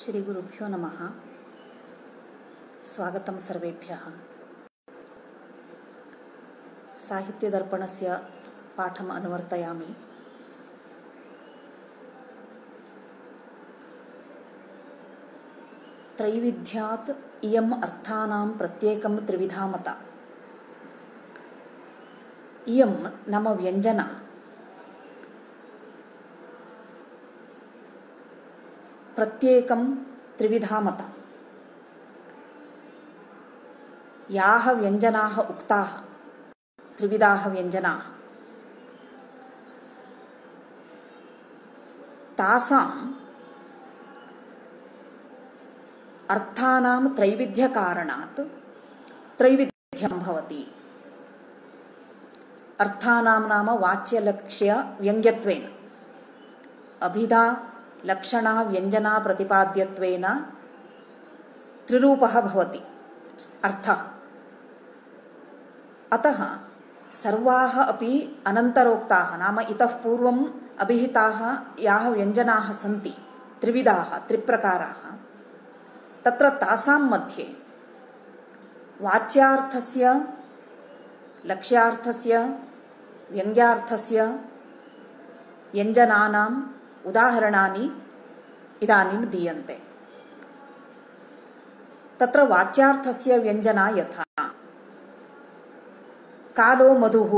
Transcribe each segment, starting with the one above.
श्री गुरुभ्यो नमः। स्वागतं सर्वेभ्यः। साहित्यदर्पणस्य पाठम् अनुवर्तयामि। त्रैविध्यात् इयम् अर्थानां प्रत्येकं त्रिविधा मता। इयं नाम व्यञ्जना प्रत्येकं त्रिविधा मता। याः व्यञ्जनाः उक्ताः त्रिविधाः व्यञ्जनाः तासाम् अर्थानां त्रैविध्यकारणात् त्रैविध्यं भवति। अर्थानां नाम वाच्यलक्ष्य व्यङ्ग्यत्वेन अभिधा लक्षणा व्यञ्जना प्रतिपाद्यत्वेन त्रिरूपः भवति अर्थः। अतः सर्वाः अपि अनन्तरोक्ताः नाम इतः पूर्वम् अभिहिताः याः व्यञ्जनाः सन्ति त्रिविधाः त्रिप्रकाराः, तत्र तासां मध्ये वाच्यार्थस्य लक्ष्यार्थस्य व्यङ्ग्यार्थस्य व्यञ्जनानाम् उदाहरणानि इदानीं दीयन्ते। तत्र वाच्यार्थस्य व्यञ्जना यथा कालो मधुः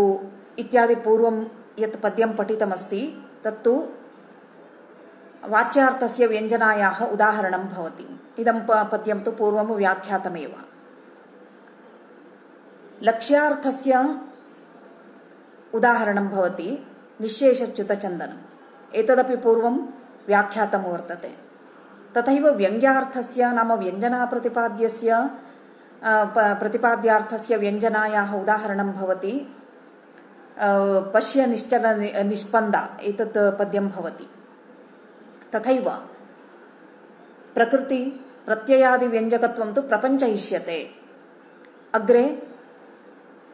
इत्यादि पूर्वं यत् पद्यं पठितमस्ति तत्तु वाच्यार्थस्य व्यञ्जनायाः उदाहरणं भवति। इदं पद्यं तु पूर्वं व्याख्यातमेव। लक्ष्यार्थस्य उदाहरणं भवति निःशेषच्युतचन्दनम्। एतदपि पूर्वं व्याख्यातं वर्तते। तथैव व्यङ्ग्यार्थस्य नाम प्रतिपाद्यार्थस्य व्यञ्जनायाः उदाहरणं भवति पश्य निश्चल निष्पन्दा एतत् पद्यं भवति। तथैव प्रकृति प्रत्ययादिव्यञ्जकत्वं तु प्रपञ्चयिष्यते अग्रे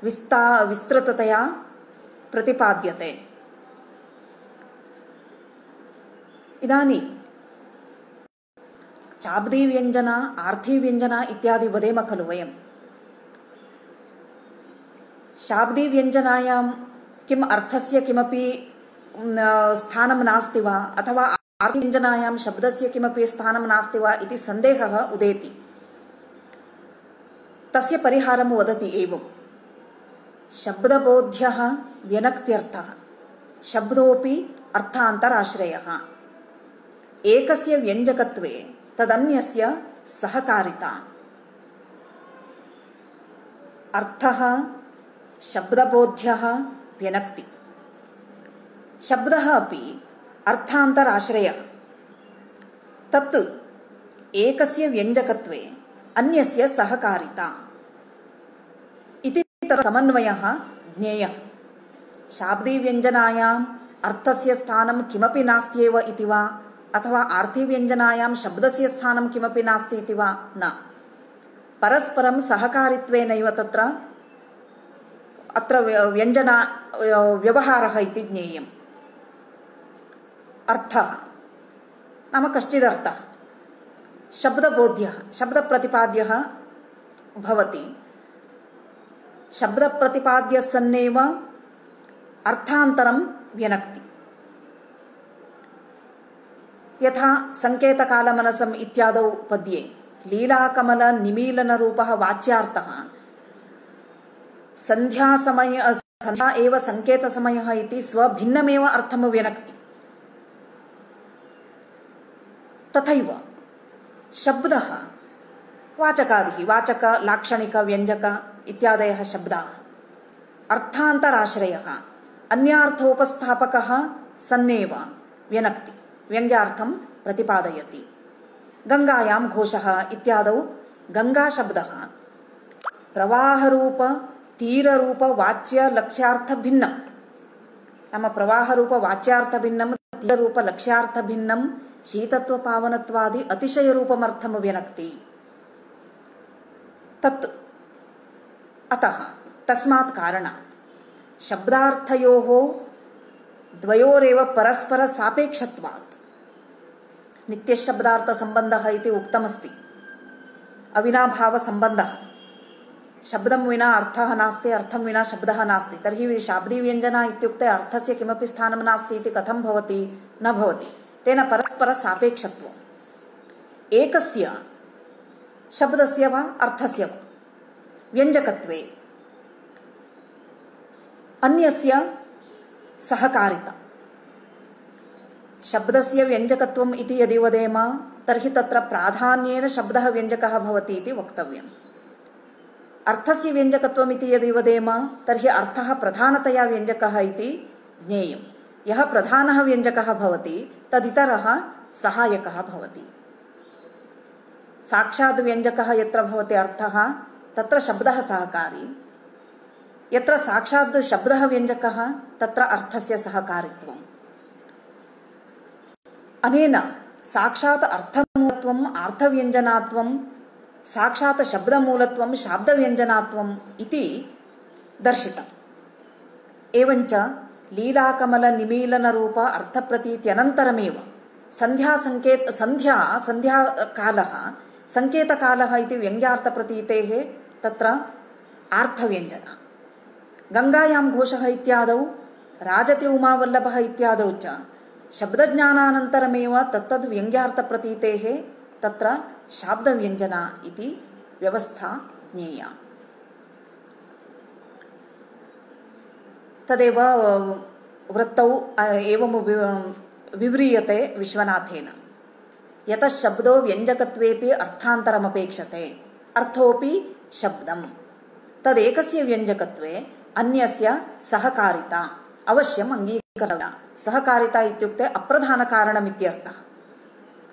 विस्तृततया प्रतिपाद्यते। इदानीं शाब्दीव्यञ्जना आर्थिव्यञ्जना इत्यादि वदेम खलु वयं। शाब्दीव्यञ्जनायां किम् अर्थस्य किमपि स्थानं नास्ति वा अथवा आर्थिव्यञ्जनायां शब्दस्य किमपि स्थानं नास्ति वा इति सन्देहः उदेति। तस्य परिहारं वदति एवं: शब्दबोध्यः व्यनक्त्यर्थः शब्दोऽपि अर्थान्तराश्रयः। एकस्य व्यञ्जकत्वे तदन्यस्य सहकारिता। अर्थः शब्दबोध्यः व्यनक्ति। शब्दः अपि अर्थान्तराश्रयः। तत् एकस्य व्यञ्जकत्वे अन्यस्य सहकारिता इति समन्वयः ज्ञेयः। शाब्दीव्यञ्जनायाम् अर्थस्य स्थानं किमपि नास्त्येव इति वा अथवा आर्थिव्यञ्जनायां शब्दस्य स्थानं किमपि नास्ति इति वा न। परस्परं सहकारित्वेनैव अत्र व्यञ्जना व्यवहारः इति ज्ञेयम्। अर्थः नाम कश्चिदर्थः शब्दबोध्यः शब्दप्रतिपाद्यः भवति। शब्दप्रतिपाद्यः सन्नेव अर्थान्तरं व्यनक्ति। यथा संकेतकालमनसम् इत्यादौ पद्ये लीलाकमलनिमीलनरूपः वाच्यार्थः संध्या एव संकेतसमयः इति स्वभिन्नमेव अर्थं व्यनक्ति। तथैव शब्दः वाचकादिः वाचक लाक्षणिक व्यञ्जक इत्यादयः शब्दाः अर्थान्तराश्रयः अन्यार्थोपस्थापकः सन्नेव व्यनक्ति व्यङ्ग्यार्थं प्रतिपादयति। गङ्गायां घोषः इत्यादौ गङ्गाशब्दः प्रवाहरूप तीररूप वाच्य लक्ष्यार्थभिन्नं नाम प्रवाहरूप वाच्यार्थभिन्नं तीररूप लक्ष्यार्थभिन्नं शीतत्वपावनत्वादि अतिशयरूपमर्थं व्यनक्ति। तत् अतः तस्मात् कारणात् शब्दार्थयोः द्वयोरेव परस्पर सापेक्षत्वात् नित्यशब्दार्थसम्बन्धः इति उक्तमस्ति। अविनाभावसम्बन्धः, शब्दं विना अर्थः नास्ति, अर्थं विना शब्दः नास्ति। तर्हि शाब्दीव्यञ्जना इत्युक्ते अर्थस्य किमपि स्थानं नास्ति इति कथं भवति? न भवति। तेन परस्परसापेक्षत्वम् एकस्य शब्दस्य वा अर्थस्य वा व्यञ्जकत्वे अन्यस्य सहकारिता। शब्दस्य व्यञ्जकत्वम् इति यदि वदेम तर्हि तत्र प्राधान्येन शब्दः व्यञ्जकः भवति इति वक्तव्यम्। अर्थस्य व्यञ्जकत्वम् इति यदि वदेम तर्हि अर्थः प्रधानतया व्यञ्जकः इति ज्ञेयम्। यः प्रधानः व्यञ्जकः भवति तदितरः सहायकः भवति। साक्षात् व्यञ्जकः यत्र भवति अर्थः तत्र शब्दः सहकारी, यत्र साक्षात् शब्दः व्यञ्जकः तत्र अर्थस्य सहकारित्वम्। अनेन साक्षात् अर्थमूलत्वम् अर्थव्यञ्जनात्वं, साक्षात् शब्दमूलत्वं शाब्दव्यञ्जनात्वम् इति दर्शितम्। एवञ्च लीलाकमलनिमीलनरूप अर्थप्रतीत्यनन्तरमेव संध्याकालः संकेतकालः इति व्यङ्ग्यार्थप्रतीतेः तत्र आर्थव्यञ्जना। गङ्गायां घोषः इत्यादौ, राजति उमावल्लभः इत्यादौ च शब्दज्ञानानन्तरमेव तत्तद् व्यङ्ग्यार्थप्रतीतेः तत्र शाब्दव्यञ्जना इति व्यवस्था ज्ञेया। तदेव वृत्तौ एवं विव्रियते विश्वनाथेन। यतः शब्दो व्यञ्जकत्वेपि अर्थान्तरमपेक्षते, अर्थोऽपि शब्दम्, तदेकस्य व्यञ्जकत्वे अन्यस्य सहकारिता अवश्यम् अङ्गीकर्तव्या। सहकारिता इत्युक्ते अप्रधानकारणमित्यर्थः।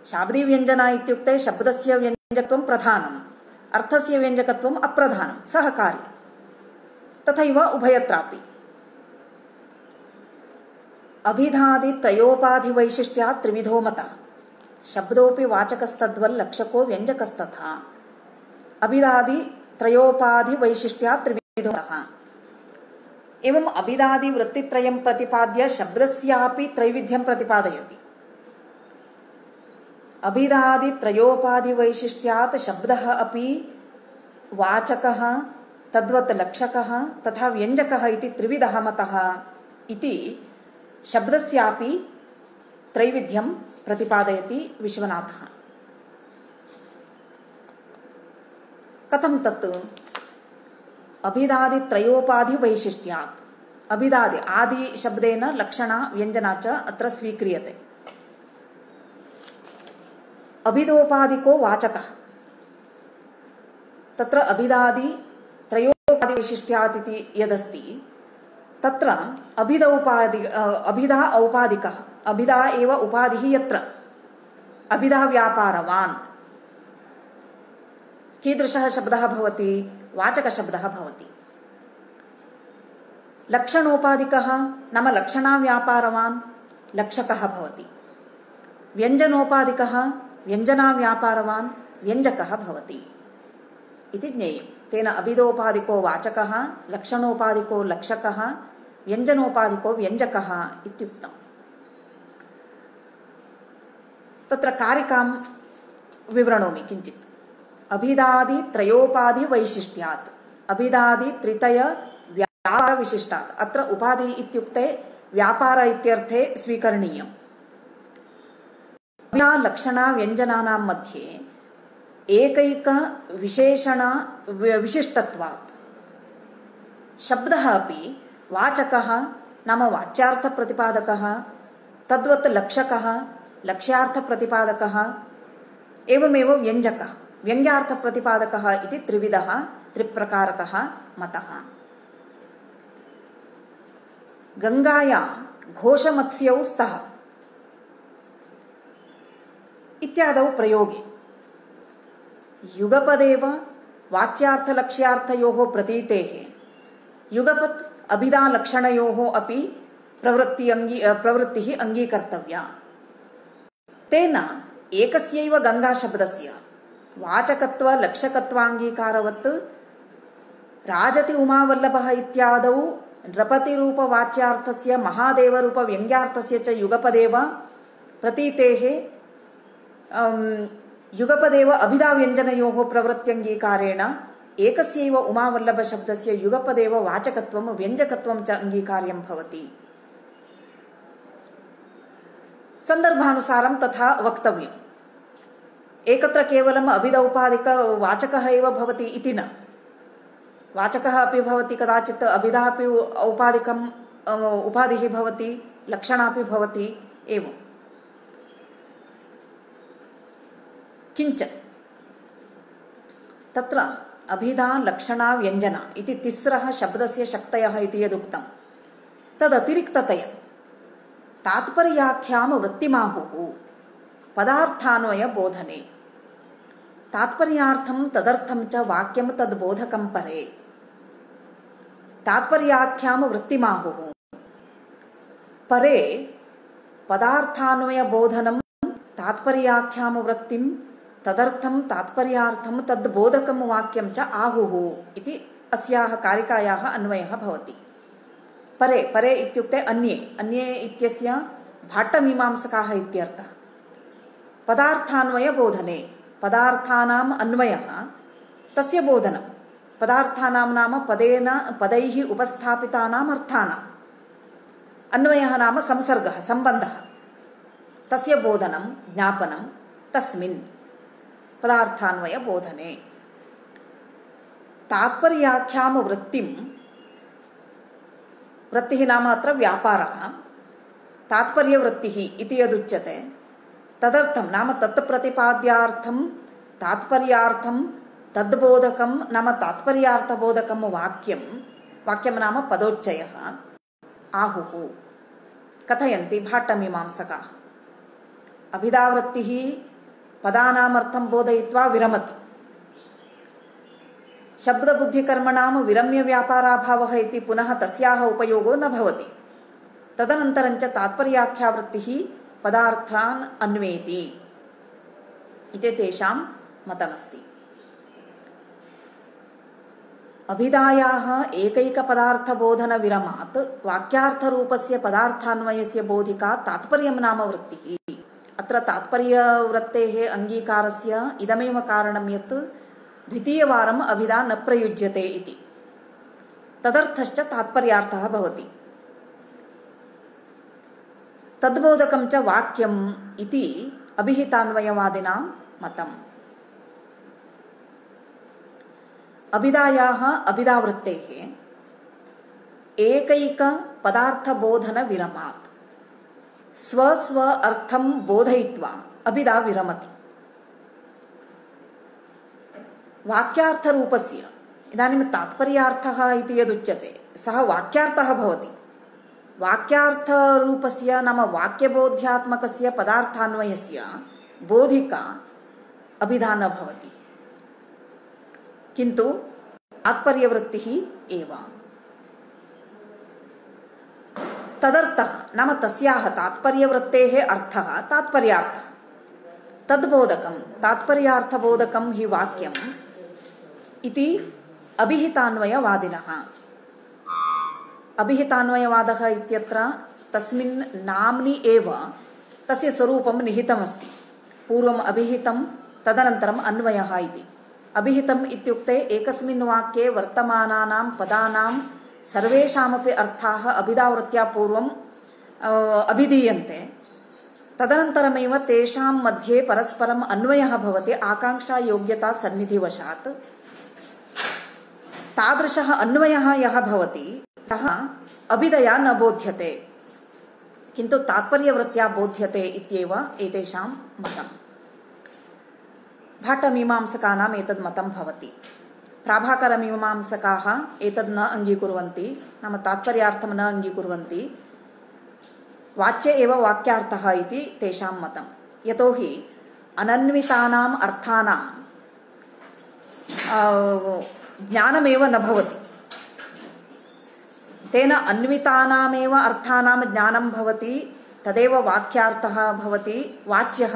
शाब्दीव्यञ्जना इत्युक्ते शब्दस्य व्यञ्जकत्वं प्रधानम्, अर्थस्य व्यञ्जकत्वम् अप्रधानं, सहकारी। तथैव उभयत्रापि अभिधादित्रयोपाधिवैशिष्ट्यात् त्रिविधो मतः। शब्दोऽपि वाचकस्तद्वल्लक्षको व्यञ्जकस्तथा। अभिधादित्रयोपाधिवैशिष्ट्यात् त्रिविधो मतः। एवम् अभिधादिवृत्तित्रयं प्रतिपाद्य शब्दस्यापि त्रैविध्यं प्रतिपादयति। अभिधादित्रयोपाधिवैशिष्ट्यात् शब्दः अपि वाचकः, तद्वत् लक्षकः तथा व्यञ्जकः इति त्रिविधः मतः इति शब्दस्यापि त्रैविध्यं प्रतिपादयति विश्वनाथः। कथं तत्? अभिधादित्रयोपाधिवैशिष्ट्यात्। अभिधादि आदि शब्देन लक्षणा व्यञ्जना च अत्र स्वीक्रियते। अभिधोपाधिको वाचकः, तत्र अभिधादित्रयोपाधिवैशिष्ट्यात् इति यदस्ति तत्र अभिधा औपाधिकः, अभिधा एव उपाधिः यत्र अभिधा व्यापारवान् कीदृशः शब्दः भवति? वाचकशब्दः भवति। लक्षणोपाधिकः नाम लक्षणाव्यापारवान् लक्षकः भवति। व्यञ्जनोपाधिकः व्यञ्जनाव्यापारवान् व्यञ्जकः भवति इति ज्ञेयम्। तेन अभिधोपाधिको वाचकः, लक्षणोपाधिको लक्षकः, व्यञ्जनोपाधिको व्यञ्जकः इत्युक्तम्। तत्र कारिकां विवृणोमि किञ्चित्। अभिधादित्रयोपाधिवैशिष्ट्यात्, अभिधादित्रितय व्यापारविशिष्टात्। अत्र उपाधि इत्युक्ते व्यापार इत्यर्थे स्वीकरणीयम्। लक्षणा व्यञ्जनानां मध्ये एकैक विशेषण विशिष्टत्वात् शब्दः अपि वाचकः नाम वाच्यार्थप्रतिपादकः, तद्वत् लक्षकः लक्ष्यार्थप्रतिपादकः, एवमेव व्यञ्जकः व्यङ्ग्यार्थप्रतिपादकः इति त्रिविधः त्रिप्रकारकः मतः। गङ्गायां घोषमत्स्यौ स्तः इत्यादौ प्रयोगे युगपदेव वाच्यार्थलक्ष्यार्थयोः प्रतीतेः युगपत् अभिधालक्षणयोः अपि प्रवृत्तिः अङ्गीकर्तव्या। तेन एकस्यैव गङ्गाशब्दस्य वाचकत्वलक्षकत्वाङ्गीकारवत् राजति उमावल्लभः इत्यादौ नृपतिरूपवाच्यार्थस्य महादेवरूपव्यङ्ग्यार्थस्य च युगपदेव प्रतीतेः युगपदेव अभिधाव्यञ्जनयोः प्रवृत्त्यङ्गीकारेण एकस्यैव उमावल्लभशब्दस्य युगपदेव वाचकत्वं व्यञ्जकत्वं च अङ्गीकार्यं भवति। सन्दर्भानुसारं तथा वक्तव्यम्। एकत्र केवलम् अभिधौपाधिकवाचकः एव भवति इति न, वाचकः अपि भवति, कदाचित् अभिधा अपि औपाधिकम् उपाधिः भवति, लक्षणापि भवति एवं। किञ्च तत्र अभिधा लक्षणा व्यञ्जना इति तिस्रः शब्दस्य शक्तयः इति यदुक्तं तदतिरिक्ततया तात्पर्याख्यां वृत्तिमाहुः पदार्थान्वय बोधने तात्पर्यार्थं तदर्थं च वाक्यं तद्बोधकं परे तात्पर्याख्यां वृत्तिमाहुः परे पदार्थान्वय बोधनं तात्पर्याख्यां वृत्तिं तदर्थं तात्पर्यार्थं तद्बोधकं वाक्यं च आहुः इति अस्याः कारिकायाः अन्वयः भवति। परे परे इत्युक्ते अन्ये अन्ये इत्यस्य भाट्टमीमांसकाः इत्यर्थः। पदार्थान्वय बोधने पदार्थानाम् अन्वयः तस्य बोधनं पदार्थानां नाम पदेन पदैः उपस्थापितानाम् अर्थानाम् अन्वयः नाम संसर्गः सम्बन्धः तस्य बोधनं ज्ञापनं तस्मिन् पदार्थान्वय बोधने तात्पर्याख्यां वृत्तिं वृत्तिः नाम अत्र व्यापारः तात्पर्यवृत्तिः इति यदुच्यते तदर्थं नाम तत्प्रतिपाद्यार्थं तात्पर्यार्थं तद्बोधकं नाम तात्पर्यार्थबोधकं वाक्यं वाक्यं नाम पदोच्चयः आहुः कथयन्ति भाट्टमीमांसकाः। अभिधावृत्तिः पदानामर्थं बोधयित्वा विरमति शब्दबुद्धिकर्मणां विरम्य व्यापाराभावः इति पुनः तस्याः उपयोगो न भवति। तदनन्तरञ्च तात्पर्याख्यावृत्तिः पदार्थान् अन्वेति इति तेषां मतमस्ति। अभिधायाः एकैकपदार्थबोधनविरमात् वाक्यार्थरूपस्य पदार्थान्वयस्य बोधिका तात्पर्यं नाम वृत्तिः। अत्र तात्पर्यवृत्तेः अङ्गीकारस्य इदमेव कारणं यत् द्वितीयवारम् अभिधा न प्रयुज्यते इति। तदर्थश्च तात्पर्यार्थः भवति। तद्बोधकं च वाक्यम् इति अभिहितान्वयवादिनां मतम्। अभिधायाः अभिधावृत्तेः एकैकपदार्थबोधनविरमात् स्वस्व अर्थं बोधयित्वा अभिधा विरमति। वाक्यार्थरूपस्य इदानीं तात्पर्यार्थः इति यदुच्यते सः वाक्यार्थः भवति। वाक्यार्थरूपस्य नाम वाक्यबोध्यात्मकस्य पदार्थान्वयस्य बोधिका अभिधा न भवति, किन्तु तात्पर्यवृत्तिः एव। तदर्थः नाम तस्याः तात्पर्यवृत्तेः अर्थः तात्पर्यार्थः तद्बोधकं तात्पर्यार्थबोधकं हि वाक्यम् इति अभिहितान्वयवादिनः। अभिहितान्वयवादः इत्यत्र तस्मिन् नाम्नि एव तस्य स्वरूपं निहितमस्ति। पूर्वम् अभिहितं तदनन्तरम् अन्वयः इति। अभिहितम् इत्युक्ते एकस्मिन् वाक्ये वर्तमानानां पदानां सर्वेषामपि अर्थाः अभिधावृत्त्या पूर्वम् अभिधीयन्ते, तदनन्तरमेव तेषां मध्ये परस्परम् अन्वयः भवति आकाङ्क्षायोग्यता सन्निधिवशात्। तादृशः अन्वयः यः भवति सः अभिधया न बोध्यते, किन्तु तात्पर्यवृत्त्या बोध्यते इत्येव एतेषां मतम्। भाट्टमीमांसकानाम् एतद् मतं भवति। प्राभाकरमीमांसकाः एतद् न अङ्गीकुर्वन्ति, नाम तात्पर्यार्थं न अङ्गीकुर्वन्ति, वाच्ये एव वाक्यार्थः इति तेषां मतं। यतोहि अनन्वितानाम् अर्थानां ज्ञानमेव न भवति। तेन अन्वितानामेव अर्थानां ज्ञानं भवति, तदेव वाक्यार्थः भवति, वाच्यः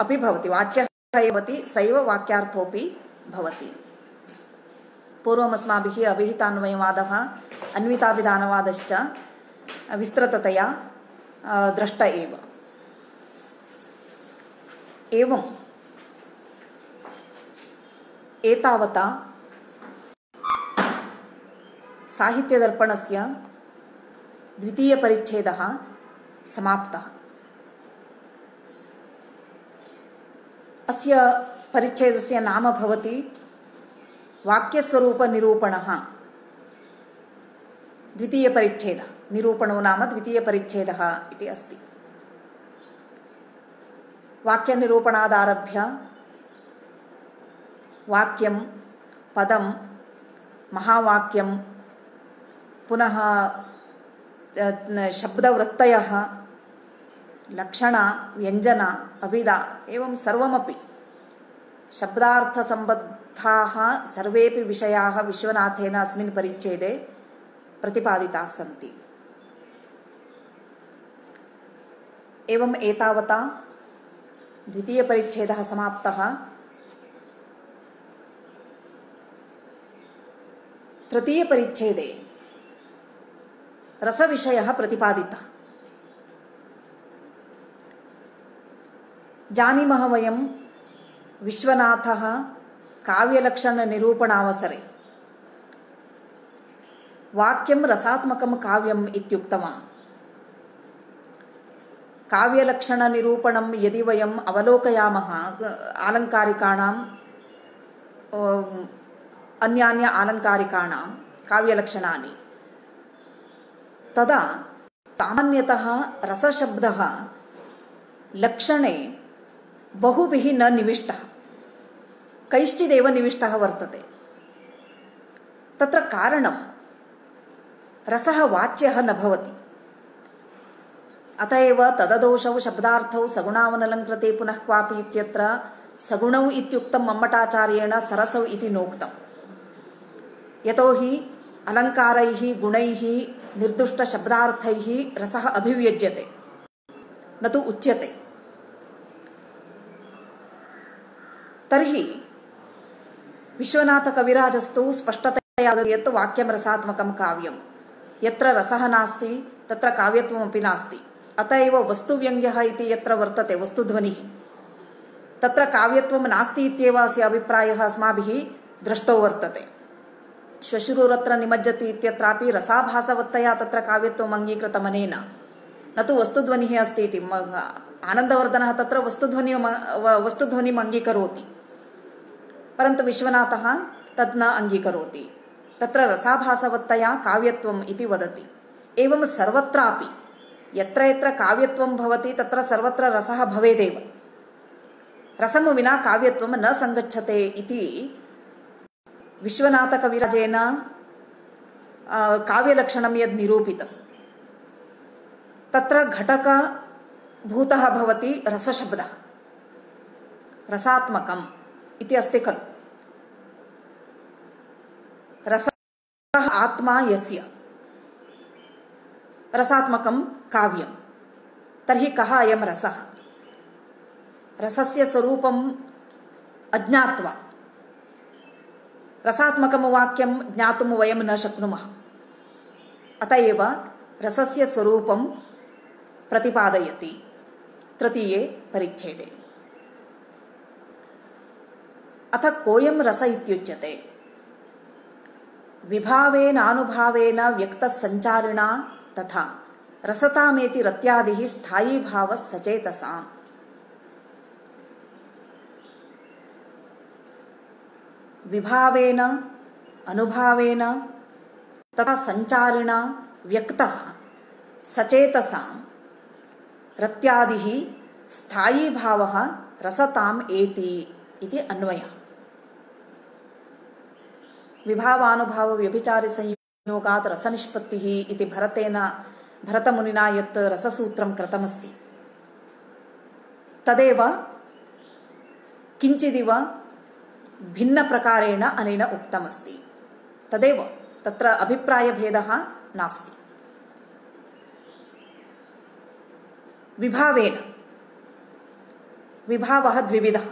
अपि भवति, वाच्यः भवति, सैव वाक्यार्थोऽपि भवति। पूर्वमस्माभिः अभिहितान्वयवादः अन्विताभिधानवादश्च विस्तृततया दृष्ट एव। एवं एतावता साहित्यदर्पणस्य द्वितीयपरिच्छेदः समाप्तः। अस्य परिच्छेदस्य नाम भवति वाक्यस्वरूपनिरूपणः। द्वितीयपरिच्छेदः, निरूपणो नाम द्वितीयपरिच्छेदः इति अस्ति। वाक्यनिरूपणादारभ्य वाक्यं, पदं, महावाक्यं, पुनः शब्दवृत्तयः, लक्षण, व्यञ्जन, अभिधा एवं सर्वमपि शब्दार्थसम्बद्धाः सर्वेपि विषयाः विश्वनाथेन अस्मिन् परिच्छेदे प्रतिपादिताः सन्ति। एवम् एतावता द्वितीयपरिच्छेदः समाप्तः। तृतीयपरिच्छेदे रसविषयः प्रतिपादितः। जानीमः वयं विश्वनाथः काव्यलक्षणनिरूपणावसरे वाक्यं रसात्मकं काव्यम् इत्युक्तवान्। काव्यलक्षणनिरूपणं यदि वयम् अवलोकयामः, आलङ्कारिकाणां अन्यान्य आलङ्कारिकाणां काव्यलक्षणानि, तदा सामान्यतः रसशब्दः लक्षणे बहुभिः न निविष्टः, कैश्चिदेव निविष्टः वर्तते। तत्र कारणं रसः वाच्यः न भवति। अत एव तददोषौ शब्दार्थौ सगुणावनलङ्कृते पुनः क्वापि इत्यत्र सगुणौ इत्युक्तं मम्मटाचार्येण सरसौ इति नोक्तम्। यतोहि अलङ्कारैः गुणैः निर्दुष्टशब्दार्थैः रसः अभिव्यज्यते, न तु उच्यते। तर्हि विश्वनाथकविराजस्तु स्पष्टतया वदति यत् वाक्यं रसात्मकं काव्यं, यत्र रसः नास्ति तत्र काव्यत्वमपि नास्ति। अत एव वस्तुव्यङ्ग्यः इति यत्र वर्तते वस्तुध्वनिः, तत्र काव्यत्वं नास्ति इत्येव अस्य अभिप्रायः अस्माभिः दृष्टो वर्तते। श्वशुरुरत्र निमज्जति इत्यत्रापि रसाभासवत्तया तत्र काव्यत्वम् अङ्गीकृतमनेन, न तु वस्तुध्वनिः अस्ति इति। आनन्दवर्धनः तत्र वस्तुध्वनिम् अङ्गीकरोति, परन्तु विश्वनाथः तद् न अङ्गीकरोति। तत्र रसाभासवत्तया काव्यत्वम् इति वदति। एवं सर्वत्रापि यत्र यत्र काव्यत्वं भवति तत्र सर्वत्र रसः भवेदेव। रसं विना काव्यत्वं न सङ्गच्छते इति विश्वनाथकविराजेन काव्यलक्षणं यद् निरूपितं, तत्र घटकभूतः भवति रसशब्दः, रसात्मकम् इति अस्ति खलु। रसः आत्मा यस्य, रसात्मकं काव्यं। तर्हि कः अयं रसः? रसस्य स्वरूपम् अज्ञात्वा रसात्मकं वाक्यं ज्ञातुं वयं न शक्नुमः। अत एव रसस्य स्वरूपं प्रतिपादयति तृतीये परिच्छेदे। अथ कोऽयं रस इत्युच्यते? विभावेनानुभावेन व्यक्तसञ्चारिणा तथा रसतामेति रत्यादिः स्थायी भावः सचेतसाम्। विभावेन अनुभावेन तथा संचारिणा व्यक्तः सचेतसां रत्यादिः स्थायी भावः रसताम् एति इति अन्वयः। विभावानुभाव व्यभिचारि संयोगात् रसनिष्पत्तिः इति भरतमुनिना यत् रससूत्रं कृतमस्ति, तदेव किञ्चिदिव भिन्नप्रकारेण अनेन उक्तमस्ति। तदेव तत्र अभिप्रायभेदः नास्ति। विभावेन, विभावः द्विविधः,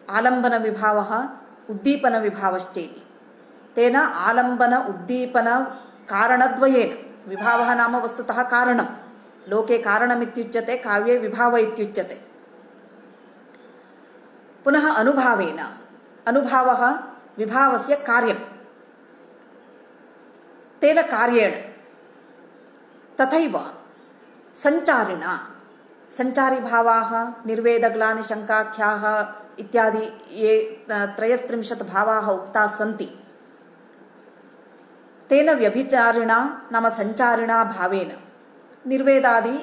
आलम्बनविभावः उद्दीपनविभावश्चेति। तेन आलम्बन उद्दीपन कारणद्वयेन, विभावः नाम वस्तुतः कारणं, लोके कारणमित्युच्यते, काव्ये विभाव इत्युच्यते। पुनः अनुभावेन, अनुभावः विभावस्य कार्यं, तेन कार्येण, तथैव संचारिणा, संचारिभावाः निर्वेदग्लानि शङ्काख्याः इत्यादि ये 33 भावाः उक्ताः सन्ति, तेन व्यभिचारिणा नाम संचारिणा भावेन निर्वेदादि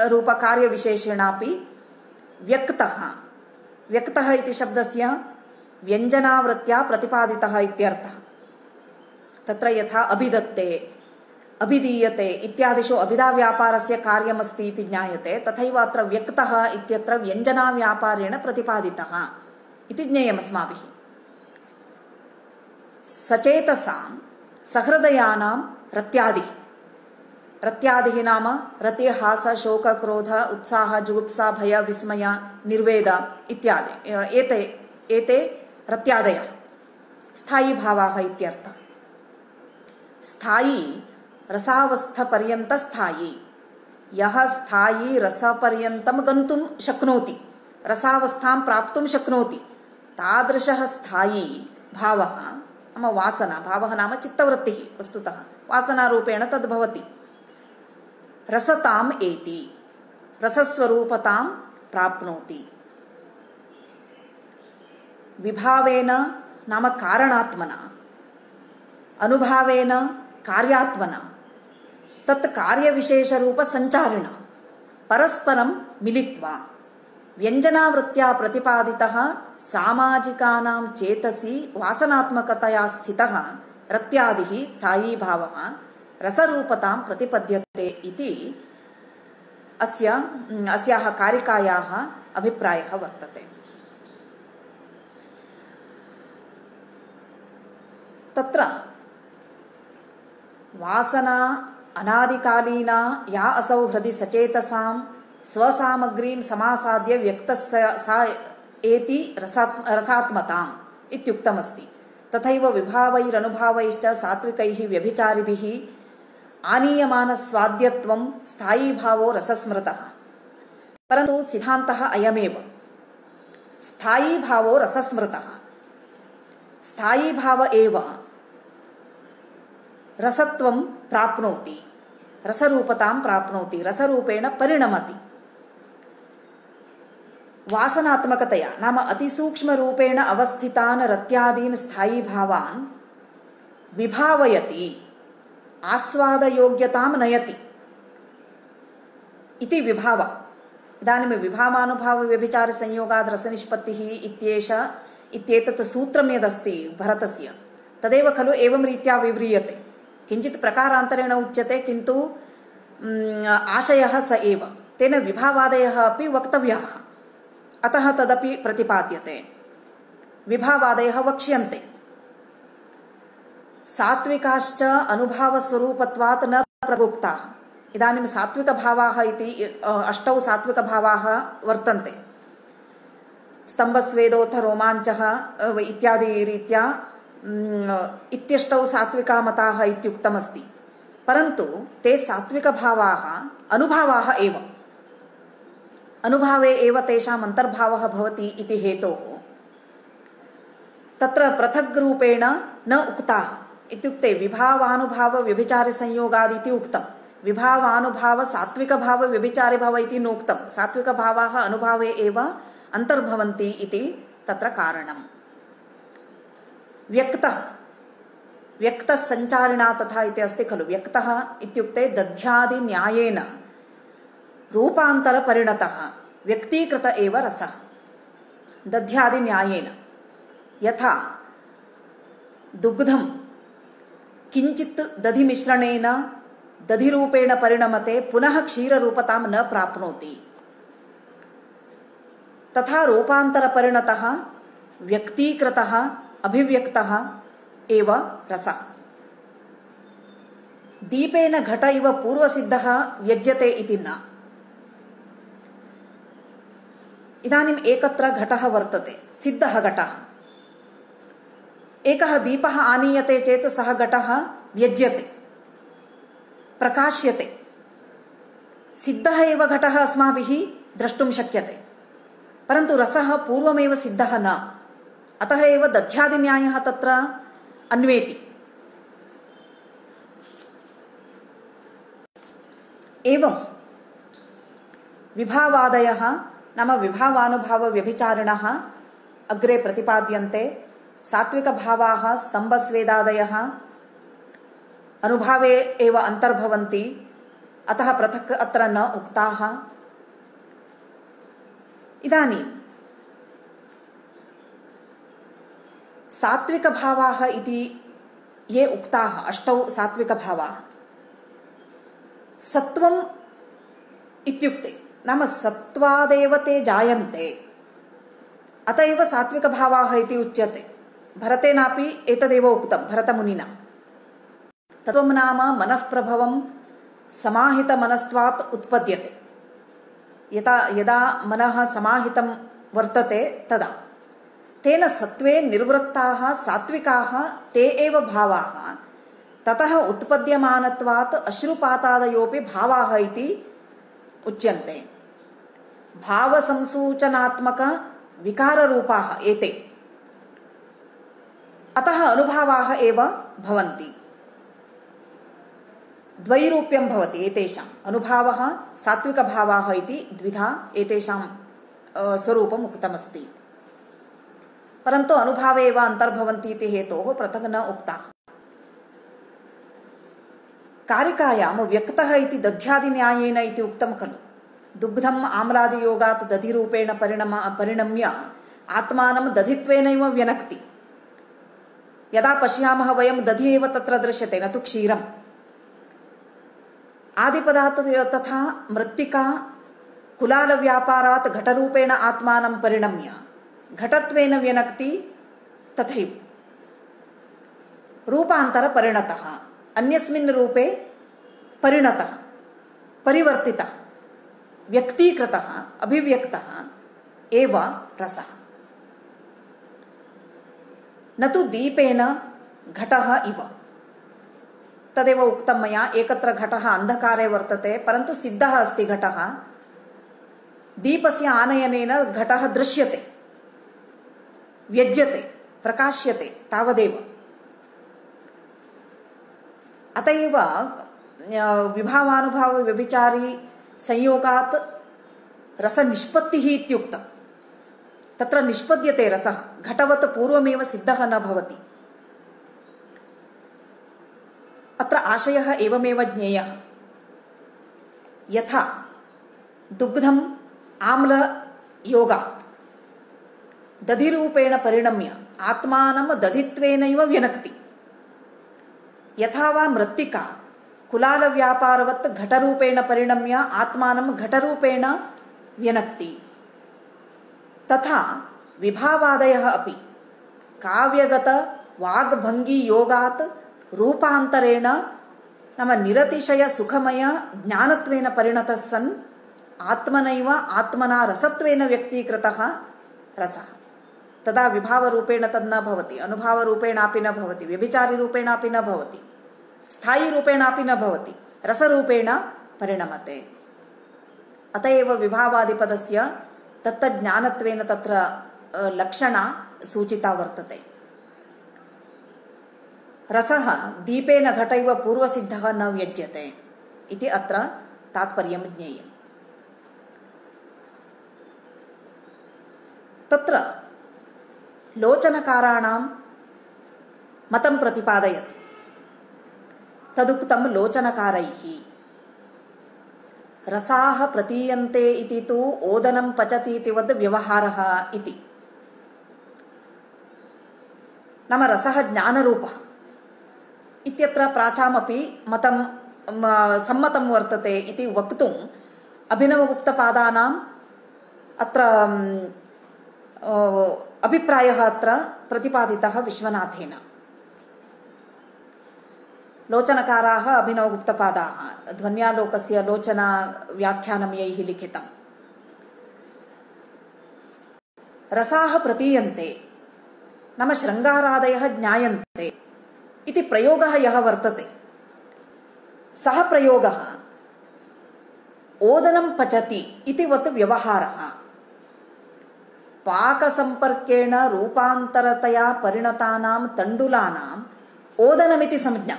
रूपकार्यविशेषेणापि व्यक्तः, व्यक्तः इति शब्दस्य व्यञ्जनावृत्त्या प्रतिपादितः इत्यर्थः। तत्र यथा अभिदत्ते, अभिधीयते इत्यादिषु अभिधाव्यापारस्य कार्यमस्ति इति ज्ञायते, तथैव अत्र व्यक्तः इत्यत्र व्यञ्जनाव्यापारेण प्रतिपादितः इति ज्ञेयम् अस्माभिः। सचेतसां सहृदयानां रत्यादिः, रत्यादिः नाम रति, हास, शोक, क्रोध, उत्साह, जुगुप्सा, भय, विस्मय, निर्वेद इत्यादि एते रत्यादयः स्थायी भावाः इत्यर्थः। स्थायी रसावस्थपर्यन्त स्थायी, यः स्थायी रसपर्यन्तं गन्तुं शक्नोति, रसावस्थां प्राप्तुं शक्नोति, तादृशः स्थायी भावः नाम वासना, भावः नाम चित्तवृत्तिः, वस्तुतः वासनारूपेण तद्भवति। रसताम् एति, रसस्वरूपतां प्राप्नोति। विभावेन नाम कारणात्मना, अनुभावेन कार्यात्मना, तत् कार्यविशेषरूपसञ्चारिणा परस्परं मिलित्वा व्यञ्जनावृत्त्या प्रतिपादितः सामाजिकानां चेतसि वासनात्मकतया स्थितः रत्यादिः स्थायीभावः रसरूपतां प्रतिपद्यते इति अस्याः कारिकायाः अभिप्रायः वर्तते। तत्र वासना अनादिकालीना या असौ हृदि सचेतसां स्वसामग्रीं समासाद्य व्यक्तस्य सा एति रसात्मताम् इत्युक्तमस्ति। तथैव विभावैरनुभावैश्च सात्विकैः व्यभिचारिभिः आनीयमानस्वाद्यत्वं स्थायीभावो रसस्मृतः। परन्तु सिद्धान्तः अयमेव, स्थायीभावो रसस्मृतः, स्थायीभाव एव रसत्वं प्राप्नोति, रसरूपतां प्राप्नोति, रसरूपेण परिणमति। वासनात्मकतया नाम अतिसूक्ष्मरूपेण अवस्थितान् रत्यादीन् स्थायीभावान् विभावयति, आस्वादयोग्यतां नयति इति विभावः। इदानीं विभावानुभावव्यभिचारसंयोगाद् रसनिष्पत्तिः इत्येतत् सूत्रं यदस्ति भरतस्य, तदेव खलु एवं रीत्या विव्रियते। किञ्चित् प्रकारान्तरेण उच्यते, किन्तु आशयः स एव। तेन विभावादयः अपि वक्तव्याः, अतः तदपि प्रतिपाद्यते। विभावादयः वक्ष्यन्ते। सात्विकाश्च अनुभावस्वरूपत्वात् न प्रयुक्ताः। इदानीं सात्विकभावाः इति 8 सात्विकभावाः वर्तन्ते। स्तम्भस्वेदोऽथ रोमाञ्चः इत्यादि रीत्या इत्यष्टौ सात्विकामताः इत्युक्तमस्ति। परन्तु ते सात्विकभावाः अनुभावाः एव, अनुभावे एव तेषाम् अन्तर्भावः भवति इति हेतोः तत्र पृथग्रूपेण न उक्ताः। इत्युक्ते विभावानुभावव्यभिचारसंयोगादिति उक्तं, विभावानुभाव सात्विकभावव्यभिचारिभाव इति नोक्तं। सात्विकभावाः अनुभावे एव अन्तर्भवन्ति इति तत्र कारणम्। व्यक्तः, व्यक्तः संचारिणा तथा इति अस्ति खलु। व्यक्तः इत्युक्ते दध्यादि न्यायेन रूपान्तरपरिणतः व्यक्तीकृत एव रसः। दध्यादि न्यायेन, यथा दुग्धं किञ्चित् दधिमिश्रणेन दधिरूपेण परिणमते, पुनः क्षीररूपतां न प्राप्नोति, तथा रूपान्तरपरिणतः व्यक्तीकृतः अभिव्यक्तः एव रसः। दीपेन घट इव पूर्वसिद्धः व्यज्यते इति न। इदानीम् एकत्र घटः वर्तते, सिद्धः घटः। एकः दीपः आनीयते चेत् सः घटः व्यज्यते, प्रकाश्यते। सिद्धः एव घटः अस्माभिः द्रष्टुं शक्यते। परन्तु रसः पूर्वमेव सिद्धः न, अतः एव दध्यादिन्यायः तत्र अन्वेति। एवं विभावादयः नाम विभावानुभावव्यभिचारिणः अग्रे प्रतिपाद्यन्ते। सात्विकभावाः स्तम्भस्वेदादयः अनुभावे एव अन्तर्भवन्ति, अतः पृथक् अत्र न उक्ताः। इदानीं सात्विकभावाः इति ये उक्ताः, 8 सात्विकभावाः, सत्वम् इत्युक्ते नाम सत्वादेव ते जायन्ते, अत एव सात्विकभावाः इति उच्यते। भरतेनापि एतदेव उक्तं भरतमुनिना। तत्त्वं नाम मनःप्रभवं समाहितमनस्त्वात् उत्पद्यते। यदा मनः समाहितं वर्तते तदा तेन सत्वे निर्वृत्ताः सात्विकाः ते एव भावाः ततः उत्पद्यमानत्वात् अश्रुपातादयोपि भावाः इति उच्यन्ते। भावसंसूचनात्मक विकाररूपाः एते, अतः अनुभावाः एव भवन्ति। द्वैरूप्यं भवति एतेषाम्। अनुभावः सात्विकभावाः इति द्विधा एतेषां स्वरूपम् उक्तमस्ति, परन्तु अनुभावे एव अन्तर्भवन्ति इति हेतोः पृथक् न उक्ताः। कारिकायां व्यक्तः इति दध्यादिन्यायेन इति उक्तं खलु। दुग्धम् आम्लादियोगात् दधिरूपेण परिणम्य आत्मानं दधित्वेनैव व्यनक्ति। यदा पश्यामः वयं दधि एव तत्र दृश्यते, न तु क्षीरम्। आदिपदात् तथा मृत्तिका कुलालव्यापारात् घटरूपेण आत्मानं परिणम्य घटत्वेन व्यनक्ति, तथैव रूपान्तरपरिणतः अन्यस्मिन् रूपे परिणतः परिवर्तितः व्यक्तीकृतः अभिव्यक्तः एव रसः, न तु दीपेन घटः इव। तदेव उक्तं मया, एकत्र घटः अन्धकारे वर्तते, परन्तु सिद्धः अस्ति घटः। दीपस्य आनयनेन घटः दृश्यते, व्यज्यते, प्रकाश्यते, तावदेव। अत एव विभावानुभावव्यभिचारी संयोगात् रसनिष्पत्तिः इत्युक्तं। तत्र निष्पद्यते रसः, घटवत् पूर्वमेव सिद्धः न भवति। अत्र आशयः एवमेव ज्ञेयः। यथा दुग्धम् आम्लयोगात् दधिरूपेण परिणम्य आत्मानं दधित्वेनैव व्यनक्ति, यथा वा मृत्तिका कुलालव्यापारवत् घटरूपेण परिणम्य आत्मानं घटरूपेण व्यनक्ति, तथा विभावादयः अपि काव्यगत वाग्भङ्गियोगात् रूपान्तरेण नाम निरतिशय सुखमय ज्ञानत्वेन परिणतः सन् आत्मनैव आत्मना रसत्वेन व्यक्तीकृतः रसः। तदा विभावरूपेण तद् न भवति, अनुभावरूपेणापि न भवति, व्यभिचारिरूपेणापि न भवति, स्थायीरूपेणापि न भवति, रसरूपेण परिणमते। अत एव विभावादिपदस्य तत्तज्ञानत्वेन तत्र लक्षणा सूचिता वर्तते। रसः दीपेन घटैव पूर्वसिद्धः न व्यज्यते इति अत्र तात्पर्यं ज्ञेयम्। तत्र लोचनकाराणां मतं प्रतिपादयति। तदुक्तं लोचनकारैः। रसाः प्रतीयन्ते इति तु ओदनं पचति इति वद् व्यवहारः इति। नाम रसः ज्ञानरूपः इत्यत्र प्राचामपि मतं सम्मतं वर्तते इति वक्तुम् अभिनवगुप्तपादानाम् अत्र अभिप्रायः अत्र प्रतिपादितः विश्वनाथेन। लोचनकाराः अभिनवगुप्तपादाः, ध्वन्यालोकस्य लोचना व्याख्यानं यैः लिखितम्। रसाः प्रतीयन्ते नाम शृङ्गारादयः ज्ञायन्ते इति प्रयोगः यः वर्तते, सः प्रयोगः ओदनं पचति इति वत् व्यवहारः। पाकसम्पर्केण रूपान्तरतया परिणतानां तण्डुलानाम् ओदनमिति संज्ञा।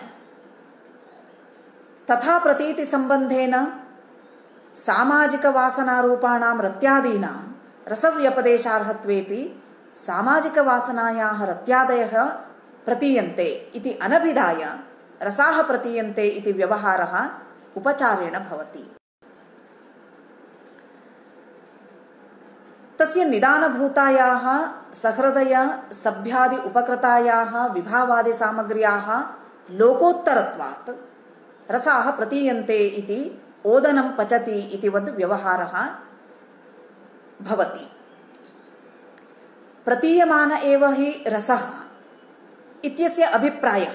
तथा प्रतीतिसम्बन्धेन सामाजिकवासनारूपाणां रत्यादीनां रसव्यपदेशार्हत्वेऽपि सामाजिकवासनायाः रत्यादयः प्रतीयन्ते इति अनभिधाय रसाः प्रतीयन्ते इति व्यवहारः उपचारेण भवति। तस्य निदानभूतायाः सहृदय सभ्यादि उपकृतायाः विभावादिसामग्र्याः लोकोत्तरत्वात् रसाः प्रतीयन्ते इति ओदनं पचति इति वद् व्यवहारः भवति। प्रतीयमान एव हि रसः इत्यस्य अभिप्रायः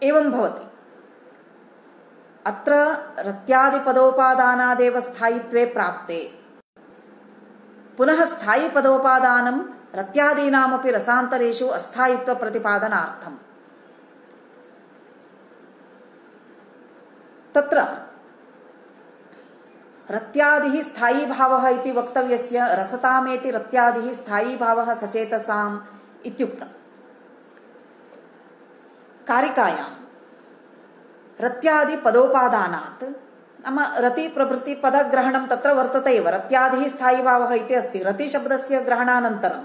एवं भवति। अत्र रत्यादिपदोपादानादेव स्थायित्वे प्राप्ते पुनः स्थायिपदोपादानं रत्यादीनामपि रसान्तरेषु अस्थायित्वप्रतिपादनार्थम्। तत्र रत्यादिः स्थायीभावः इति वक्तव्यस्य रसतामेति रत्यादिः स्थायीभावः सचेतसाम् इत्युक्तम्। कारिकायां रत्यादि पदोपादानात् नाम रति प्रभृति पदग्रहणं तत्र वर्तते एव। रत्यादिः स्थायीभावः इति अस्ति। रतिशब्दस्य ग्रहणानन्तरं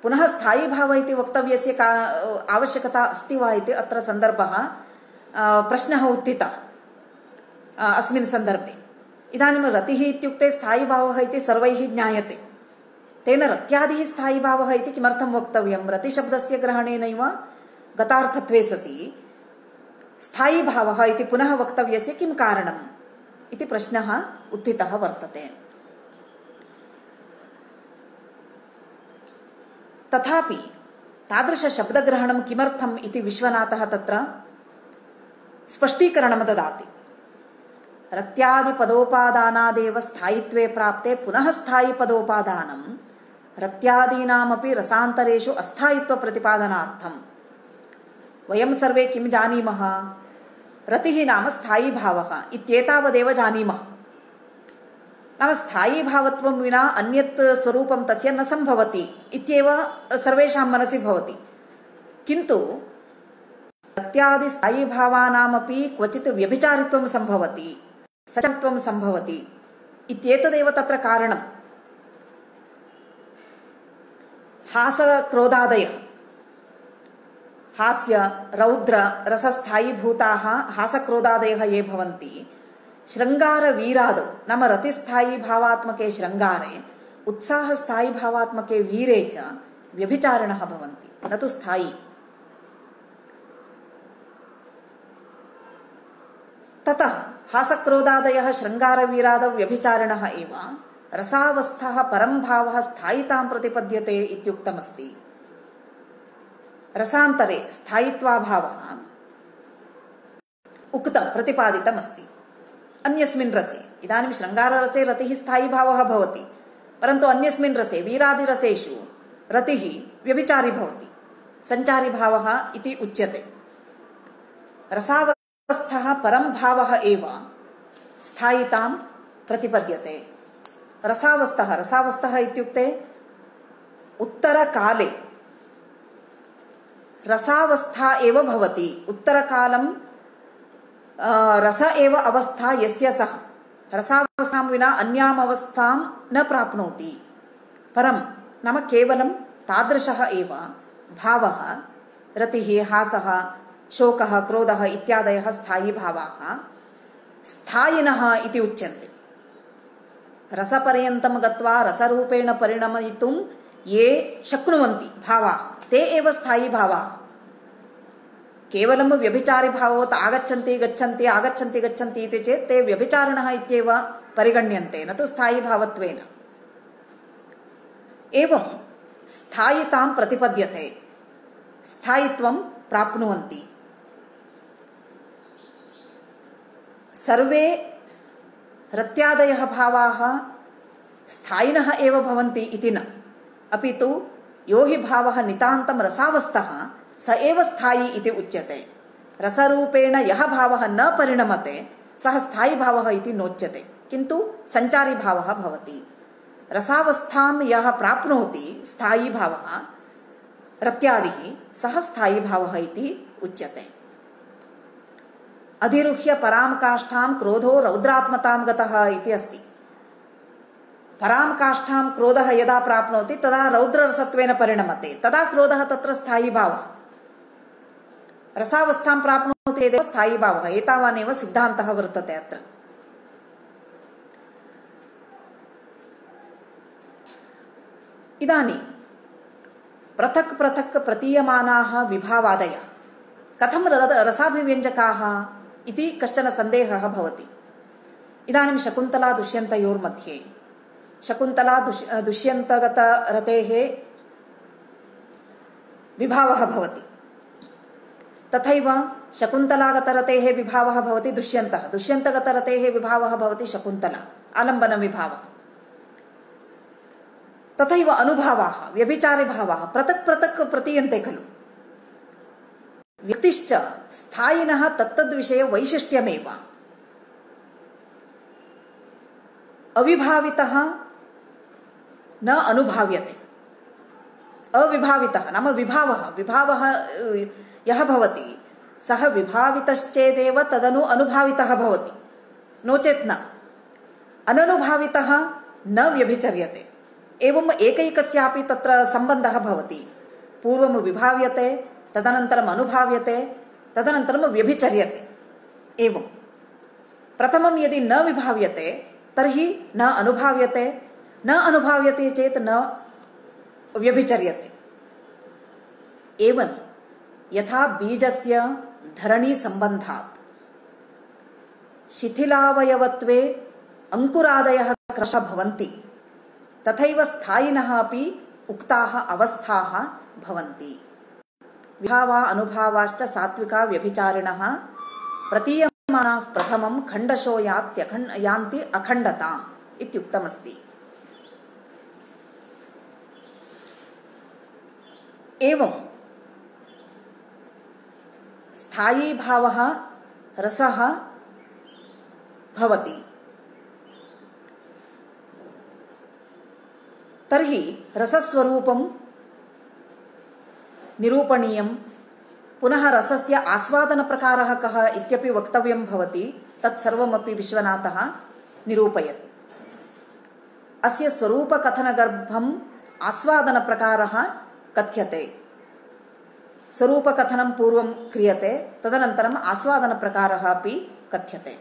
पुनः स्थायीभावः इति वक्तव्यस्य का आवश्यकता अस्ति वा इति अत्र सन्दर्भः प्रश्नः उत्थितः अस्मिन् सन्दर्भे। इदानीं रतिः इत्युक्ते स्थायीभावः इति सर्वैः ज्ञायते। तेन रत्यादिः स्थायीभावः इति किमर्थं वक्तव्यं? रतिशब्दस्य ग्रहणेनैव गतार्थत्वे सति स्थायीभावः इति पुनः वक्तव्यस्य किं कारणम् इति प्रश्नः उत्थितः वर्तते। तथापि तादृशशब्दग्रहणं किमर्थम् इति विश्वनाथः तत्र स्पष्टीकरणं ददाति। रत्यादिपदोपादानादेव स्थायित्वे प्राप्ते पुनः स्थायिपदोपादानं रत्यादीनामपि रसान्तरेषु अस्थायित्वप्रतिपादनार्थम्। वयं सर्वे किं जानीमः? रतिः नाम स्थायीभावः इत्येतावदेव जानीमः। नाम स्थायीभावत्वं विना अन्यत् स्वरूपं तस्य न सम्भवति इत्येव सर्वेषां मनसि भवति। किन्तु रत्यादि स्थायीभावानामपि क्वचित् व्यभिचारित्वं सम्भवति, सचत्वं सम्भवति इत्येतदेव तत्र कारणम्। हासक्रोधादयः हास्य रौद्र रसस्थायीभूताः हासक्रोधादयः ये भवन्ति, शृङ्गारवीरादौ नाम रतिस्थायीभावात्मके शृङ्गारे उत्साहस्थायीभावात्मके वीरे च व्यभिचारिणः भवन्ति, न तु स्थायी। ततः हासक्रोधादयः शृङ्गारवीरादौ व्यभिचारिणः एव रसावस्थः परं भावः स्थायितां प्रतिपद्यते इत्युक्तमस्ति। रसान्तरे स्थायित्वाभावः उक्तं प्रतिपादितमस्ति अन्यस्मिन् रसे। इदानीं शृङ्गाररसे रतिः स्थायीभावः भवति, परन्तु अन्यस्मिन् रसे वीरादिरसेषु रतिः व्यभिचारी भवति, सञ्चारीभावः इति उच्यते। रसावस्थः परं भावः एव स्थायितां प्रतिपद्यते। रसावस्थः इत्युक्ते उत्तरकाले रसावस्था एव भवति। उत्तरकालं रस एव अवस्था यस्य सः रसावस्थां विना अन्याम् अवस्थां न प्राप्नोति। परं नाम केवलं तादृशः एव भावः रतिः, हासः, शोकः, क्रोधः इत्यादयः स्थायीभावाः स्थायिनः इति उच्यन्ते। रसपर्यन्तं गत्वा रसरूपेण परिणमयितुं ये शक्नुवन्ति भावाः ते एव स्थायीभावाः। केवलं व्यभिचारिभावोत् आगच्छन्ति गच्छन्ति आगच्छन्ति गच्छन्ति इति चेत् ते व्यभिचारिणः इत्येव परिगण्यन्ते, न तु स्थायीभावत्वेन। एवं स्थायितां प्रतिपद्यते, स्थायित्वं प्राप्नुवन्ति। सर्वे रत्यादयः भावाः स्थायिनः एव भवन्ति इति न, अपि तु यो हि भावः नितान्तं रसावस्थः स एव स्थायी इति उच्यते। रसरूपेण यः भावः न परिणमते सः स्थायीभावः इति नोच्यते, किन्तु सञ्चारीभावः भवति। रसावस्थां यः प्राप्नोति स्थायी भावः रत्यादिः सः स्थायी भावः इति उच्यते। अधिरुह्य परां काष्ठां क्रोधो रौद्रात्मतां गतः इति अस्ति। परां काष्ठां क्रोधः यदा प्राप्नोति तदा रौद्ररसत्वेन परिणमते, तदा क्रोधः तत्र स्थायी भावः। रसावस्थां प्राप्नोति चेदेव स्थायी भावः, एतावानेव सिद्धान्तः वर्तते अत्र। इदानीं पृथक् पृथक् प्रतीयमानाः विभावादयः कथं रसाभिव्यञ्जकाः इति कश्चन सन्देहः भवति। इदानीं शकुन्तला दुष्यन्तयोर्मध्ये शकुन्तला दुष्यन्तगतरतेः विभावः भवति, तथैव शकुन्तलागतरतेः विभावः भवति दुष्यन्तः, दुष्यन्तगतरतेः विभावः भवति शकुन्तला, आलम्बनविभावः। तथैव अनुभावाः व्यभिचारिभावाः पृथक् पृथक् प्रतीयन्ते खलु। व्यक्तिश्च स्थायिनः तत्तद्विषये वैशिष्ट्यमेव। अविभावितः न अनुभाव्यते। अविभावितः नाम विभावः यः भवति सः विभावितश्चेदेव तदनु अनुभावितः भवति, नो चेत् न। अननुभावितः न व्यभिचर्यते। एवम् एकैकस्यापि तत्र सम्बन्धः भवति। पूर्वं विभाव्यते, तदनन्तरम् अनुभाव्यते, तदनन्तरं व्यभिचर्यते। एवं प्रथमं यदि न विभाव्यते तर्हि न अनुभाव्यते, न अनुभाव्यते चेत् न व्यभिचर्यते। एवं यथा बीजस्य धरणीसम्बन्धात् शिथिलावयवत्वे अंकुरादयः क्रशः भवन्ति, तथैव स्थायिनः अपि उक्ताः अवस्थाः भवन्ति। विभावा अनुभावाश्च सात्विका व्यभिचारिणः प्रतीयमानाः प्रथमं खण्डशो यान्ति अखण्डताम् इत्युक्तमस्ति। एवं स्थायी भावः रसः भवति। तर्हि रसस्वरूपं निरूपणीयं, पुनः रसस्य आस्वादनप्रकारः कः इत्यपि वक्तव्यं भवति। तत्सर्वमपि विश्वनाथः निरूपयति। अस्य स्वरूपकथनगर्भम् आस्वादनप्रकारः कथ्यते। स्वरूपकथनं पूर्वं क्रियते, तदनन्तरम् आस्वादनप्रकारः अपि कथ्यते।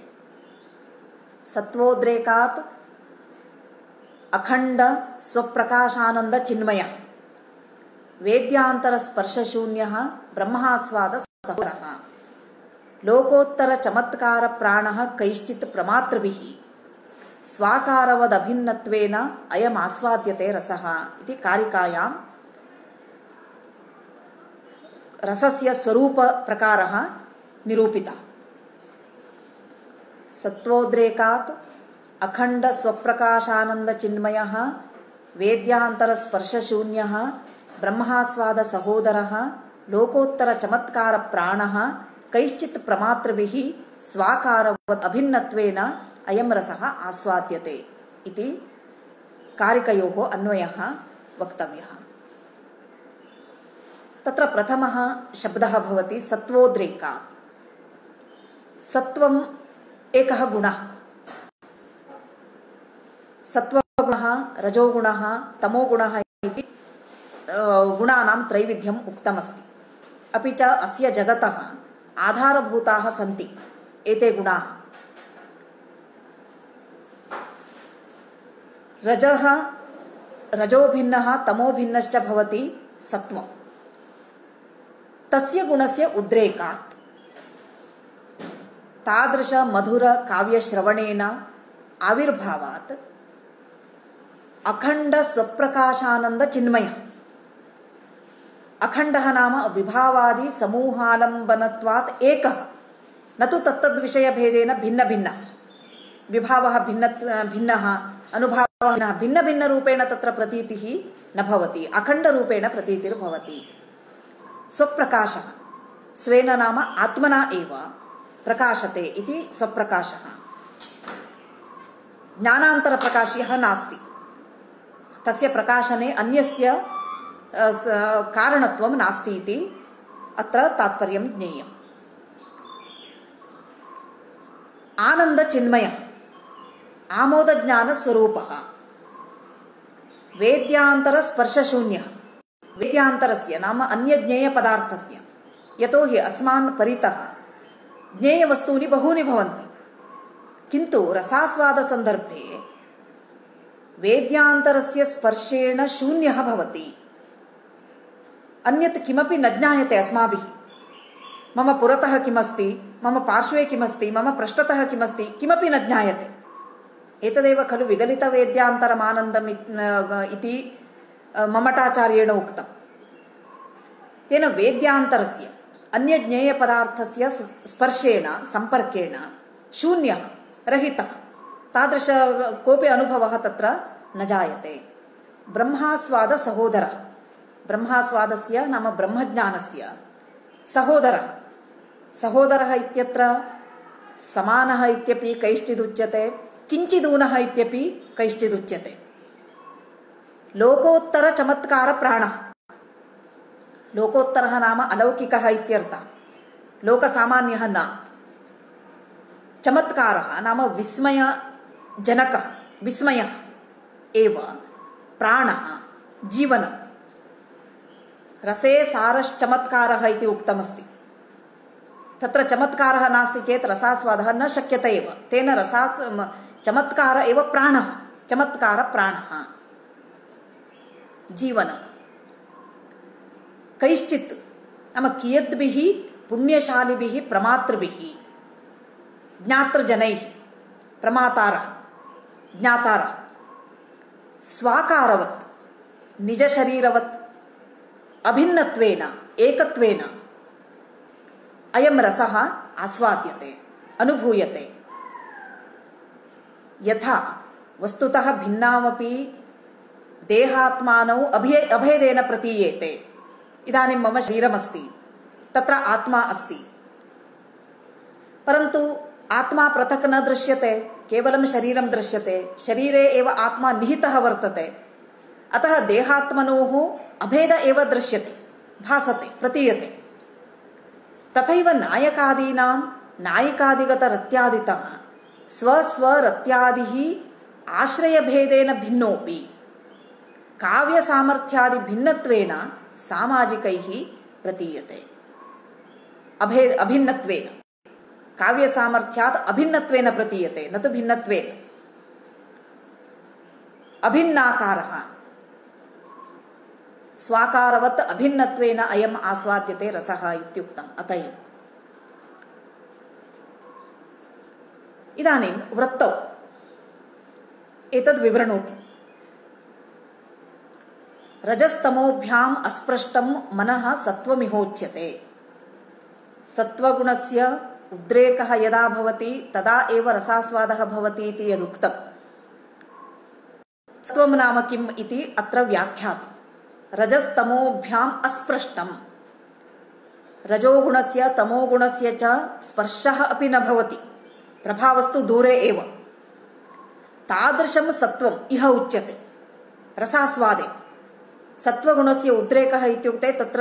सत्वोद्रेकात् अखण्ड स्वप्रकाशानंद चिन्मय वेद्यांतर स्पर्शशून्यः ब्रह्मास्वाद सहोदरः लोकोत्तर चमत्कार प्राणः कैश्चित् प्रमातृभिः स्वाकारवदभिन्नत्वेन अयम् आस्वाद्यते रसः इति कारिकायां रसस्य स्वरूप प्रकारः निरूपितः। सत्वोद्रेकात् अखंड स्वप्रकाशानंद चिन्मयः वेद्यांतर स्पर्शशून्यः ब्रह्मास्वाद सहोदरः लोकोत्तर चमत्कार प्राणः कैश्चित् प्रमातृभिः स्वाकारवत् अभिन्नत्वेन अयं रसः आस्वाद्यते इति कारिकयोः अन्वयः वक्तव्यः। तत्र प्रथमः शब्दः भवति सत्वोद्रेकात्। सत्वम् एकः गुणः। सत्वगुणः, रजोगुणः, तमोगुणः इति गुणानां त्रैविध्यम् उक्तमस्ति। अपि च अस्य जगतः आधारभूताः सन्ति एते गुणाः। रजः रजोभिन्नः तमोभिन्नश्च भवति सत्वम्। तस्य गुणस्य उद्रेकात् तादृश मधुर काव्यश्रवणेन आविर्भावात् अखंड स्वप्रकाशानंद चिन्मय। अखंडः नाम विभावादि समूहालंबनत्वात् एकः, न तु तत्तद्विषयभेदेन भिन्न भिन्न। विभावः भिन्नः, अनुभावः भिन्न भिन्न रूपेण तत्र प्रतीतिः न भवति, अखण्डरूपेण प्रतीतिर्भवति। स्वप्रकाशः स्वेन नाम आत्मना एव प्रकाशते इति स्वप्रकाशः। ज्ञानान्तरप्रकाशः नास्ति। तस्य प्रकाशने अन्यस्य कारणत्वं नास्ति इति अत्र तात्पर्यं ज्ञेयम्। आनन्दचिन्मयः आमोदज्ञानस्वरूपः वेद्यान्तरस्पर्शशून्यः वेद्यान्तरस्य नाम अन्यज्ञेयपदार्थस्य यतो हि अस्मान् परितः ज्ञेयवस्तूनि बहूनि भवन्ति, किन्तु रसास्वादसन्दर्भे वेद्यान्तरस्य स्पर्शेण शून्यः भवति। अन्यत् किमपि न ज्ञायते अस्माभिः। मम पुरतः किमस्ति, मम पार्श्वे किमस्ति, मम पृष्ठतः किमस्ति, किमपि न ज्ञायते। एतदेव खलु विगलितवेद्यान्तरमानन्दम् इति ममटाचार्येण उक्तम्। तेन वेद्यान्तरस्य अन्यज्ञेयपदार्थस्य स्पर्शेण संपर्केण शून्यः रहितः तादृश कोऽपि अनुभवः तत्र न जायते। ब्रह्मास्वादसहोदरः ब्रह्मास्वादस्य नाम ब्रह्मज्ञानस्य सहोदरः इत्यत्र समानः इत्यपि कैश्चिदुच्यते, किञ्चिदूनः इत्यपि कैश्चिदुच्यते। लोकोत्तरचमत्कारप्राणः लोकोत्तरः नाम अलौकिकः इत्यर्थः, लोकसामान्यः न। चमत्कारः नाम विस्मयजनकः, विस्मयः एव प्राणः जीवनं। रसे सारश्चमत्कारः इति उक्तमस्ति। तत्र चमत्कारः नास्ति चेत् रसास्वादः न शक्यते एव। तेन चमत्कार एव प्राणः, चमत्कारप्राणः जीवनं। कैश्चित् नाम कियद्भिः पुण्यशालिभिः प्रमातृभिः ज्ञातृजनैः प्रमातारः ज्ञातारः स्वाकारवत् निजशरीरवत् अभिन्नत्वेन एकत्वेन अयं रसः आस्वाद्यते, अनुभूयते। यथा वस्तुतः भिन्नामपि देहात्मानौ अभेदेन प्रतीयेते। इदानीं मम शरीरमस्ति, तत्र आत्मा अस्ति, परन्तु आत्मा पृथक् न दृश्यते, केवलं शरीरं दृश्यते। शरीरे एव आत्मा निहितः वर्तते। अतः देहात्मनोः अभेद एव दृश्यते, भासते, प्रतीयते। तथैव नायकादीनां नायिकादिगतरत्यादितः स्वस्वरत्यादिः आश्रयभेदेन भिन्नोऽपि काव्यसामर्थ्यादिभिन्नत्वेन सामाजिकैः प्रतीयते। अभिन्नत्वेन काव्यसामर्थ्यात् अभिन्नत्वेन प्रतीयते, न तु भिन्नत्वेन। अभिन्नाकारः स्वाकारवत् अभिन्नत्वेन अयम् आस्वाद्यते रसः इत्युक्तम्। अत एव इदानीं वृत्तौ एतद् विवृणोति। रजस्तमोभ्याम् अस्पृष्टं मनः सत्त्वमिहोच्यते। सत्त्वगुणस्य उद्रेकः यदा भवति तदा एव रसास्वादः भवति इति यदुक्तम्। सत्त्वं नाम किम् इति अत्र व्याख्याति। रजस्तमोभ्याम् अस्पृष्टं, रजोगुणस्य तमोगुणस्य च स्पर्शः अपि न भवति, प्रभावस्तु दूरे एव। तादृशं सत्त्वम् इह उच्यते रसास्वादे। सत्त्वगुणस्य उद्रेकः इत्युक्ते तत्र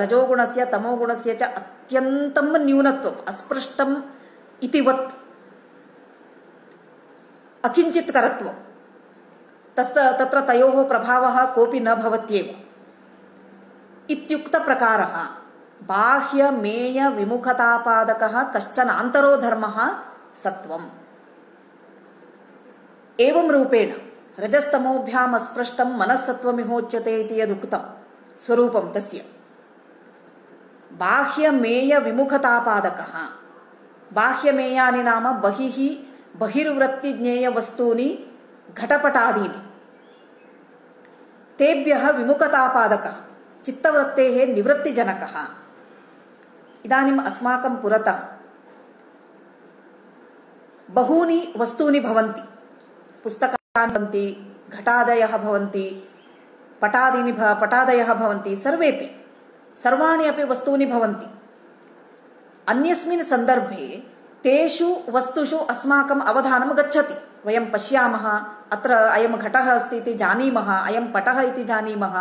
रजोगुणस्य तमोगुणस्य च अत्यन्तं न्यूनत्वम्, अस्पृष्टम् इतिवत् अकिञ्चित्करत्वम्। तत्र तयोः प्रभावः कोऽपि न भवत्येव इत्युक्तप्रकारः बाह्यमेयविमुखतापादकः कश्चन आन्तरो धर्मः सत्त्वम्। एवं रूपेण रजस्तमोभ्याम् अस्पृष्टं मनस्सत्त्वमिहोच्यते इति यदुक्तं स्वरूपं तस्य बाह्यमेयविमुखतापादकः। बाह्यमेयानि नाम बहिर्वृत्तिज्ञेयवस्तूनि घटपटादीनि, तेभ्यः विमुखतापादकः, चित्तवृत्तेः निवृत्तिजनकः। इदानीम् अस्माकं पुरतः बहूनि वस्तूनि भवन्ति। पुस्तकानि भवन्ति, घटादयः भवन्ति, पटादयः भवन्ति, सर्वाणि अपि वस्तूनि भवन्ति। अन्यस्मिन् सन्दर्भे तेषु वस्तुषु अस्माकम् अवधानं गच्छति। वयं पश्यामः, अत्र अयं घटः अस्ति इति जानीमः, अयं पटः इति जानीमः,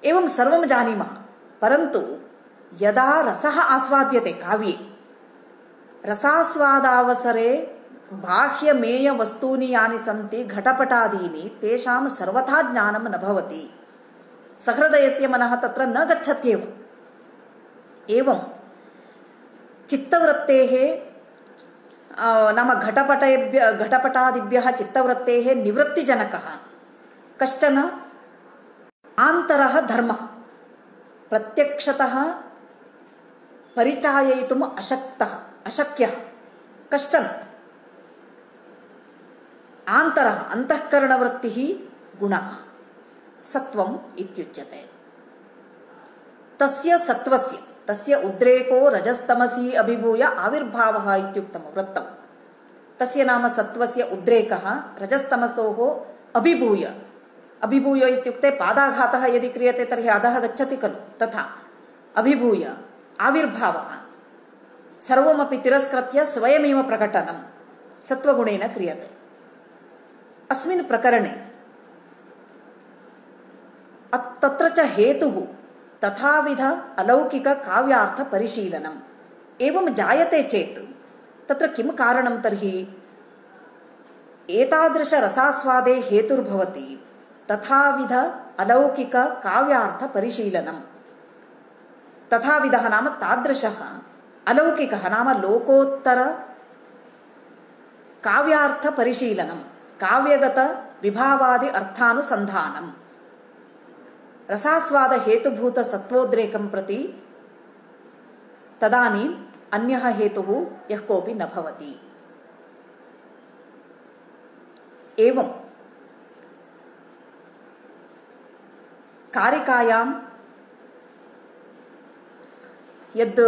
एवं सर्वं जानीमः। परन्तु यदा रसः आस्वाद्यते काव्ये, रसास्वादावसरे बाह्यमेयवस्तूनि यानि सन्ति घटपटादीनि तेषां सर्वथा ज्ञानं न भवति। सहृदयस्य मनः तत्र न गच्छत्येव। एवं चित्तवृत्तेः नाम घटपटादिभ्यः चित्तवृत्तेः निवृत्तिजनकः कश्चन आन्तरः धर्मः प्रत्यक्षतः परिचाययितुम् अशक्यः कश्चन आन्तरः अन्तःकरणवृत्तिः गुणः सत्वम् इत्युच्यते। तस्य सत्वस्य तस्य उद्रेको रजस्तमसी अभिभूय आविर्भावः इत्युक्तं वृत्तं। तस्य नाम सत्वस्य उद्रेकः रजस्तमसोः अभिभूय, अभिभूय इत्युक्ते पादाघातः यदि क्रियते तर्हि अधः गच्छति खलु, तथा अभिभूय आविर्भावः सर्वमपि तिरस्कृत्य स्वयमेव प्रकटनं सत्वगुणेन क्रियते। अस्मिन् प्रकरणे तत्र च हेतुः तथाविध अलौकिक काव्यार्थ परिशीलनम्। एवं जायते चेत् तत्र किं कारणं तर्हि? एतादृश रसास्वादे हेतुर्भवति तथाविध अलौकिक काव्यार्थ परिशीलनम्। तथाविधः नाम तादृशः, अलौकिकः नाम लोकोत्तर काव्यार्थ परिशीलनं, काव्यगत विभावादि अर्थानुसन्धानम्। रसास्वाद हेतुभूत सत्वोद्रेकं प्रति तदानीम् अन्यः हेतुः यः कोऽपि न भवति। एवं कारिकायां यद्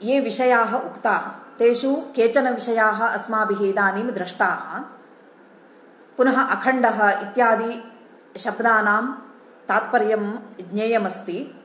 ये विषयाः उक्ताः तेषु केचन विषयाः अस्माभिः इदानीं दृष्टाः। पुनः अखण्डः इत्यादि शब्दानां तात्पर्यं ज्ञेयमस्ति।